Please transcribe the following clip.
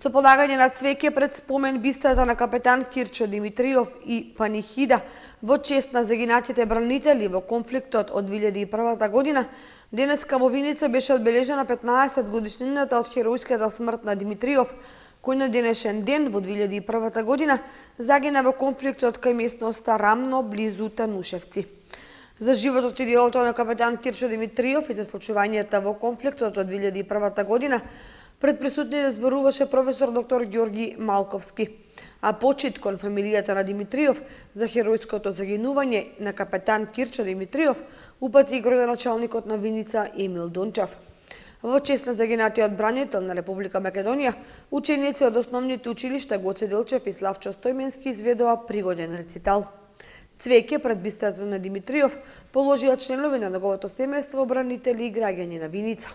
Со полагање на цвеќе пред спомен бистата на капетан Кирчо Димитриов и панихида во чест на загинатите бранители во конфликтот од 2001 година, денеска во Виница беше одбележена 15 годишнината од херојската смрт на Димитриов, кој на денешен ден во 2001 година загина во конфликтот кај местноста Рамно близу Танушевци. За животот и делото на капетан Кирчо Димитриов и за случувањата во конфликтот од 2001 година пред присутните зборуваше професор доктор Ѓорги Малковски, а почит кон фамилијата на Димитриов за херојското загинување на капетан Кирчо Димитриов упати градоначалникот на Виница Емил Дончев. Во чест на загинатиот бранител на Република Македонија, ученици од основните училишта Гоце Делчев и Славчо Стојменски изведоа пригоден рецитал. Цвеќе пред бистата на Димитриов положија членови на неговото семејство, бранители и граѓани на Виница.